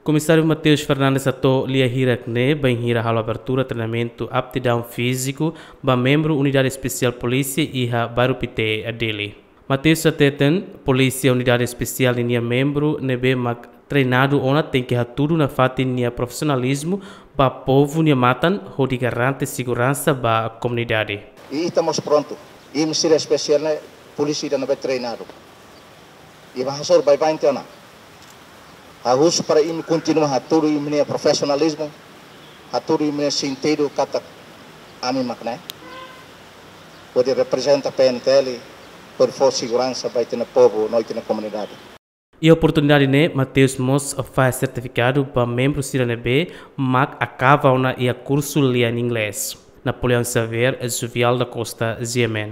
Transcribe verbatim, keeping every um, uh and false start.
Komisáriu Mateus Fernandes hato'o lia hirak ne'e bainhira halo abertura treinamentu aptidaun fíziku ba membru Unidade Espesiál Polísia iha Bairru Pité, Dili. Mateus hateten, polísia Unidade Espesiál ninia membru ne'ebé mak treinadu ona tenke hatudu nafatin nia profisionalizmu ba povu nia matan hodi garante seguransa ba komunidade. I ita mós prontu. Imi sira espesiál ne'e polísia ida ne'ebé treinadu. I ba hasoru baibain tiha ona. Ha'u husu para imi kontinua hatudu imi-nia profisionalizmu, hatudu imi-nia sentidu katak ami mak ne'e hodi reprezenta P N T L, hodi fó seguransa ba ita-nia povu no ita-nia komunidade. Iha oportunidade ne'e, Mateus mós fahe sertifikadu ba membru sira ne'ebé mak akaba ona iha kursu lian inglés. Napoleão Xavier, Juvial da Costa, G M N.